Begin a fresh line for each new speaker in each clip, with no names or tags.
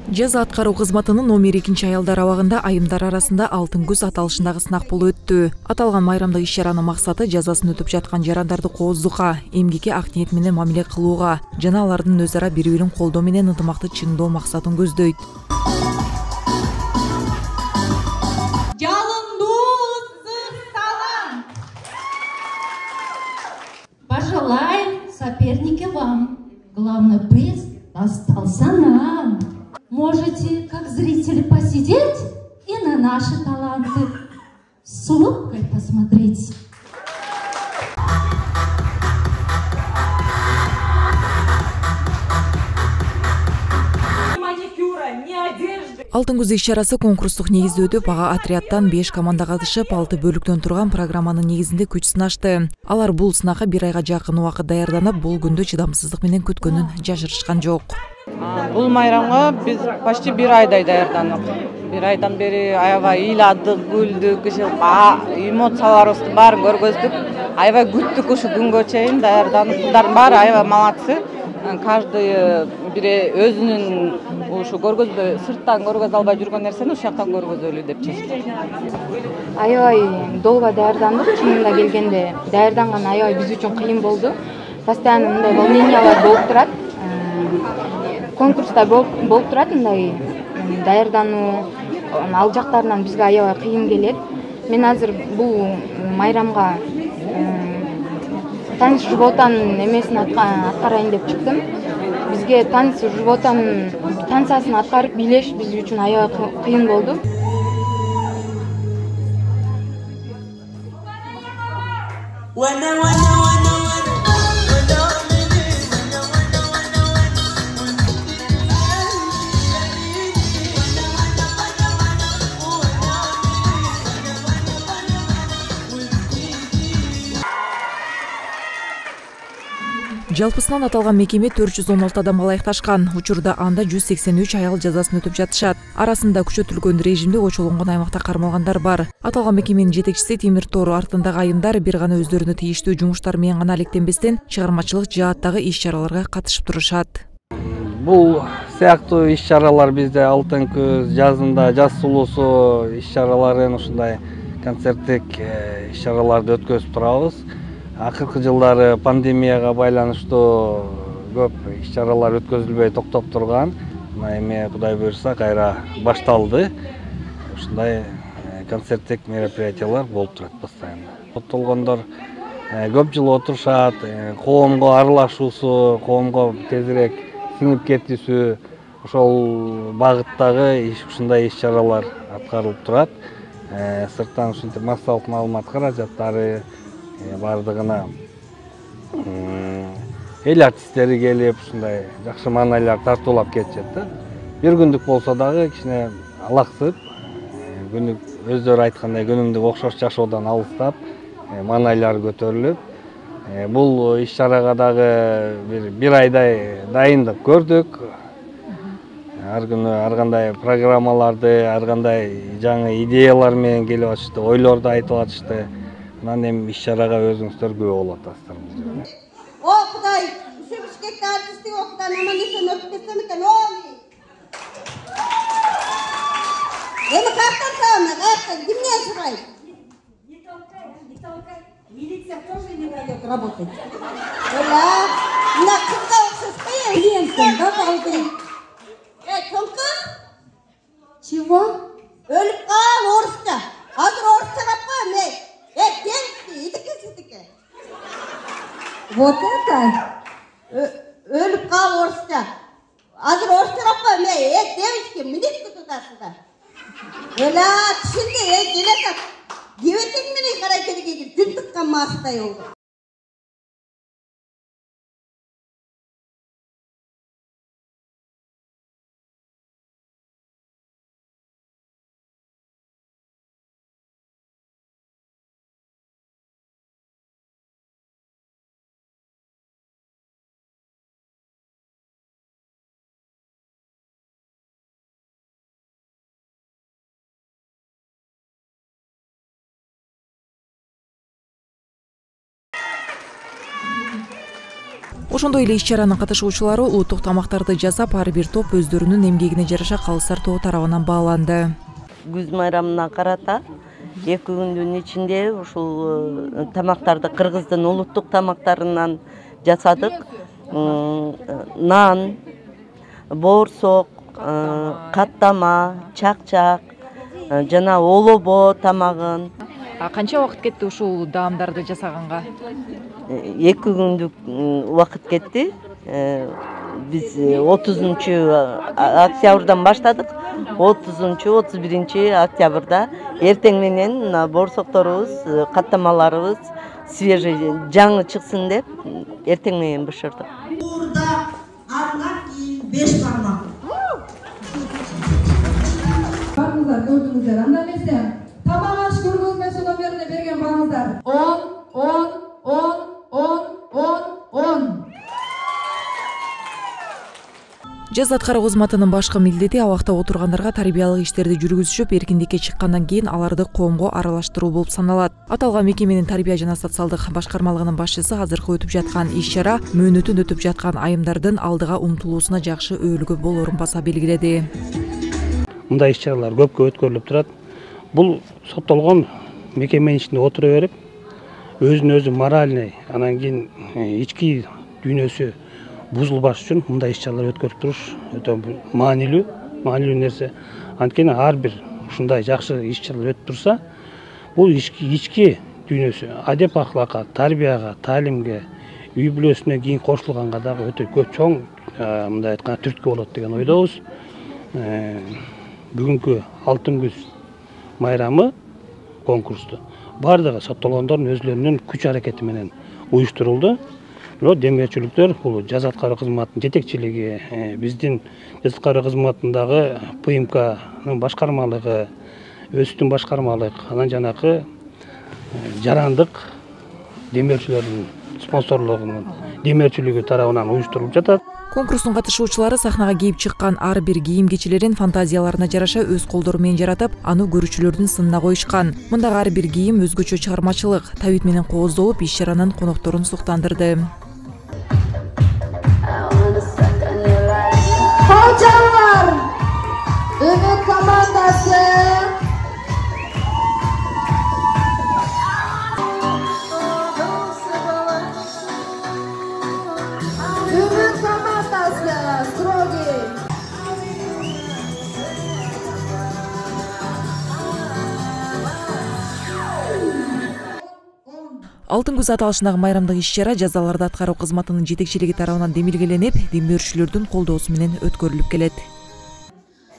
Жаза аткаруу кызматынын номер 2 аялдар абагында айымдар арасында алтын күз аталышындагы сынак болуп өттү. Аталган майрамдык иш-чаранын максаты жазасын өтүп жаткан жарандарды кооздукка, эмгекке ак ниет менен мамиле кылууга жана алардын өз ара бири-бирин колдоо менен ынтымакты чыңдоо максатын көздөйт.
Пожелаем, соперники, вам. Главный приз достался нам. Можете, как зрители, посидеть и на наши таланты с улыбкой посмотреть.
Алтын күз иш-чарасы конкурстук негизде өтүп, ага отрядтан 5 команда катышып, 6 бөлүктөн турган программанын негизинде күч сынашты. Алар бул сынакка 1 айга жакын убакыт даярданып, бул күндү чыдамсыздык менен күткөнүн жашырышкан жок.
Бул майрамга биз почти 1 айдай даярдандык. 1 айдан бери аябай ыйладык, күлдүк, эмоцияларыбыздын баарын көргөздүк. Аябай күттүк ушу күнгө чейин даярданып. Кыздардын баары аябай малатсы. Каждый бири өзүнүн ушу көргөзбөй, сырттан көргөзө албай жүргөн нерсени ушул жактан көргөзөлү деп чечтик.
Аябай долго даярдандык, чынында келгенде даярданган аябай биз үчүн кыйын болду. Постоянно мындай волнениялар болуп турат. Конкурста болуп турат мындай даярдануу, ал жактарынан бизге аябай кыйын келет. Мен азыр бул майрамга таныс жуботанын эмесин аткарайын деп чыктым. Бизге таныс жуботанын танцасын аткарып бийлеш биз үчүн аябай кыйын болду.
Жалпысынан аталган мекеме 416 адамга ылайыкташкан. Учурда анда 183 аял жазасын өтүп жатышат. Арасында күчөтүлгөн режимде очолонгон аймакта кармалгандар бар. Аталган мекеменин жетекчиси Темир Тор артындагы айымдар бир гана өздөрүнө тийиштүү жумуштар менен гана алектенбестен чыгармачылык жааттагы иш-чараларга катышып турушат.
Бул сыяктуу иш-чаралар бизде алтын күз, жазында жаз сулуусу иш-чараларын ушундай концерттик иш-чараларды өткөзүп турабыз. Акыркы жылдары пандемияга байланыштуу көп иш-чаралар өткөзүлбөй токтоп турган. Эми Кудай буйрса кайра башталды. Ушундай концерттик мероприятиялар болуп турат постоянно. Соттолгондор көп жыл отурушат, коомго аралашуусу, коомго тезирээк сиңип кетүүсү, ошол багыттагы ушундай иш-чаралар аткарылып турат. Сырттан ушинтип массалык маалымат каражаттары бардыгына эл артисттери келип, ушундай жакшы маанайлар тартуулап кетишет да. Бир күндүк болсо дагы кичине алаксып, күндүк өздөрү айткандай күнүмдүк окшош жашоодон алыстап, маанайлар көтөрүлүп, бул иш-чарага дагы бир айдай дайындык көрдүк. Ар күнү ар кандай программаларды, ар кандай жаңы идеялар менен келип атышты, ойлорду айтып атышты. Анан эми иш-чарага өзүңүздөр күбө болуп атасыздар.
О Кудай, ушу Бишкекте артисттик окудан аман-эсен өтүп кетсем экен, Эми каяктан табам, каяктан, кимден сурайм? Не толкай. Милиция тоже не дает работать. Мына кызга окшош кой, клиенттен да калдың. Тонко? Чего? Өлүп кал орусча. Азыр орусча деп кой, мен. Девочки, идите. Вот это. Өлүп кал орусча. Азыр орусча деп кой, мен. Девочки, минетке тутасыздар. Түшүндү, келе. Кебетең менен карай келген, жүн тыккан маастай болду.
Ошондой эле иш-чаранын катышуучулары улуттук тамактарды жасап, ар бир топ өздөрүнүн эмгегине жараша калыстар тобу тарабынан бааланды.
Күз майрамына карата 2 күндүн ичинде ушул тамактарды кыргыздын улуттук тамактарынан жасадык. Нан, боорсок, каттама, чакчак, жана олобо тамагын.
Канча убакыт кетти ушул даамдарды жасаганга?
2 күндүк убакыт кетти. Биз 30-октябрдан баштадык. 30-31 октябрда эртең менен боорсокторубуз, каттамаларыбыз свежий, жаңы чыксын деп эртең менен бышырдык.
Burada andan keyin 5 parmak.
Barыңыздар көрдүңүздөр. Анда эмесе тамак аш көргөзмөсү номерине берген барыңыздар. 10.
Жаз аткаруу кызматынын башкы милдети абакта отургандарга тарбиялык иштерди жүргүзүшүп, эркиндикке чыккандан кийин аларды коомго аралаштыруу болуп саналат. Аталган мекеменин тарбия жана социалдык башкармалыгынын башчысы азыркы өтүп жаткан иш-чара мөөнөтүн өтүп жаткан айымдардын алдыга умтулуусуна жакшы өбөлгө болорун баса белгиледи.
Мындай иш-чаралар көпкө өткөрүлүп турат. Бул соттолгон мекеменин ичинде отура берип, өзүн өзү моральный, анан кийин ички дүйнөсү бузулбаш үчүн мындай иш-чаралар өткөрүп туруш өтө маанилүү нерсе. Анткени ар бир ушундай жакшы иш-чаралар өтүп турса, бул ички дүйнөсү, адеп ахлакка, тарбияга, таалимге, үй бүлөсүнө кийин кошулганга дагы өтө көп чоң мындай айтканда түрткү болот деген ойдобуз. Бүгүнкү алтын күз майрамы конкурсту бардыгы соттолгондордун өзлөрүнүн күч аракети менен уюштурулду. Демечүлүктөр бул жаз аткаруу кызматынын жетекчилиги, биздин жаз аткаруу кызматындагы ПМКнын башкармалыгы, ÖСТтүн башкармалык, анан жанакы жарандык демеушүлөрдүн спонсорлугунун демеушүлүгү тарабынан уюштурулуп жатат.
Конкурстун катышуучулары сахнага кийип чыккан ар бир кийим-кечилерин фантазияларына жараша өз колдору менен жаратып, аны көрүүчүлөрдүн сынына коюшкан. Мындагы ар бир кийим өзгөчө чыгармачылык, табит менен кооздолуп, иш-чаранын конокторун суктандырды.
Hocalar, Ümit komandası. Ümit komandası, Strogi.
Алтын күз аталышындагы майрамдык иш-чара жазаларды аткаруу кызматынын жетекчилиги тарабынан демилгеленип, демөөрчүлөрдүн колдоосу менен өткөрүлүп келет.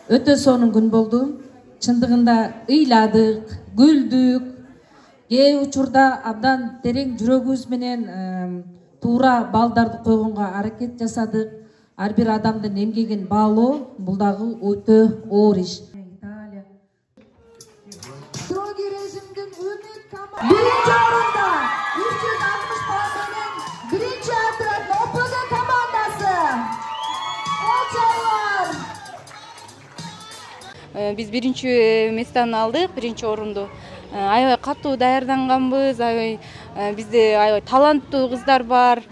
Өтө сонун күн болду. Чындыгында ыйладык, күлдүк. Кээ учурда абдан терең жүрөгүбүз менен туура балдарды койгонго аракет жасадык. Ар бир адамдын эмгегин баалоо бул дагы өтө оор иш.
Strogi rejimdin Ümit komandası. Birinci orunda 360 puan menен birinci oturat OPG komandası. Hocalar.
Биз биринчи местаны алдык, биринчи орунду. Аябай катуу даярданганбыз, бизде аябай таланттуу кыздар бар.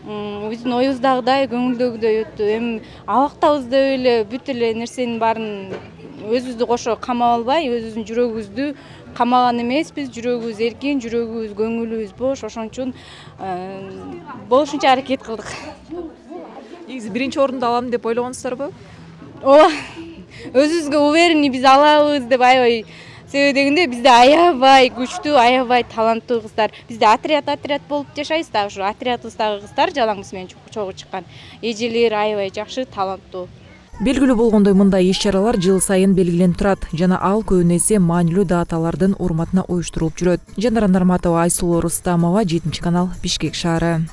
Биздин оюбуздагыдай, көңүлдөгүдөй өттү. Эми абактабызда эле бүт эле нерсенин баарын өзүбүздү кошо камап албай, өзүбүздүн жүрөгүбүздү камаган эмеспиз. Жүрөгүбүз эркин, жүрөгүбүз, көңүлүбүз бош. Ошон үчүн болушунча аракет кылдык.
Негизи биринчи орунду алам деп ойлогонсуздарбы?
Ооба. Өзүбүзгө уверенный биз алабыз деп аябай. Себеби дегенде бизде аябай күчтүү, аябай таланттуу кыздар. Бизде отряд болуп жашайбыз да, ушу отрядыбыздагы кыздар жалаңбыз менен чогуу чыккан. Эжелер аябай жакшы, таланттуу.
Белгилүү болгондой, мындай иш-чаралар жыл сайын белгиленип турат жана ал көбүнө эсе маанилүү даталардын урматына уюштурулуп жүрөт. Жанара Нарматова, Айсулуу Рустамова, 7 канал, Бишкек шаары.